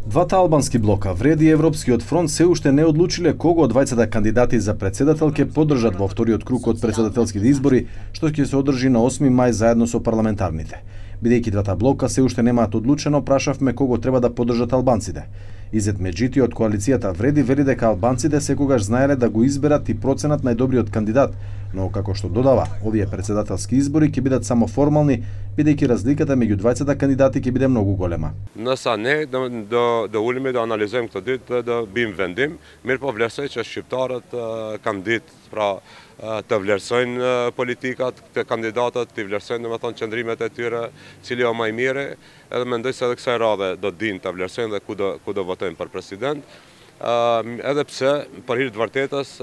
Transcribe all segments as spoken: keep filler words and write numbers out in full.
Двата албански блока, Вреди и Европскиот фронт, се уште не одлучиле кого од двајцата кандидати за председател ќе поддржат во вториот круг од председателските избори, што ќе се одржи на осми мај заедно со парламентарните. Бидејќи двата блока се уште немаат одлучено, прашавме кого треба да поддржат албанците. Изет Меджити од коалицијата Вреди вели дека албанците секогаш знаеле да го изберат и проценат најдобриот кандидат, но како што додава, овие председателски избори ќе бидат само формални, бидејќи разликата меѓу двајцата кандидати ќе биде многу голема. Nësa ne do do do ulemi do analizojmë këtë ditë dhe do bim vendim, mirë po vlerësoj që shqiptarët kanë ditë pra të vlerësojnë politikat, të kandidatët, të vlerësojnë domethënë qëndrimet e tyre, cili o më i miri, edhe mendoj se edhe kësaj radhe do dinë të vlerësojnë dhe ku do ku do votojnë për president. Edhe pse për hir të vërtetës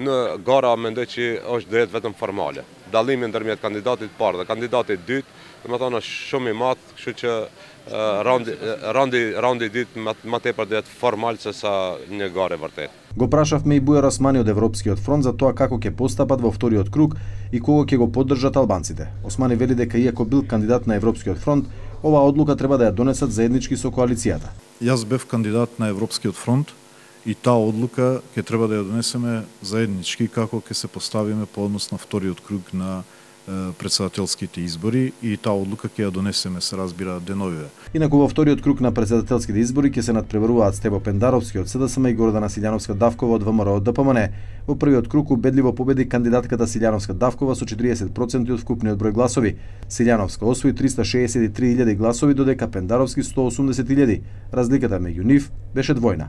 në gara mendoj që është drejt vetëm formale. Dallimi ndërmjet kandidatit parë dhe kandidatit dytë, domethënë është shumë i madh, kështu që randi randi randi ditë më tepër drejt formal se sa një garë vërtet. Го прашавме и Бујар Османи од Европскиот фронт за тоа како ќе постапат во вториот круг и кого ќе го поддржат албанците. Османи вели дека иако бил кандидат на Европскиот фронт, оваа одлука треба да ја донесат заеднички со коалицијата. Јас бев кандидат на Европскиот фронт и таа одлука ќе треба да ја донесеме заеднички како ќе се поставиме по однос на вториот круг на председателските избори и таа одлука ќе ја донесеме, се разбира, деновиве. Инаку во вториот круг на председателските избори ќе се надпреваруваат Стево Пендаровски од СДСМ и Гордана Силјановска-Давкова од ВМРО од ДПМН. Во првиот круг убедливо победи кандидатката Силјановска-Давкова со четириесет проценти од вкупниот број гласови. Силјановска освои триста шеесет и три илјади гласови, додека Пендаровски сто осумдесет илјади. Разликата меѓу нив беше двојна.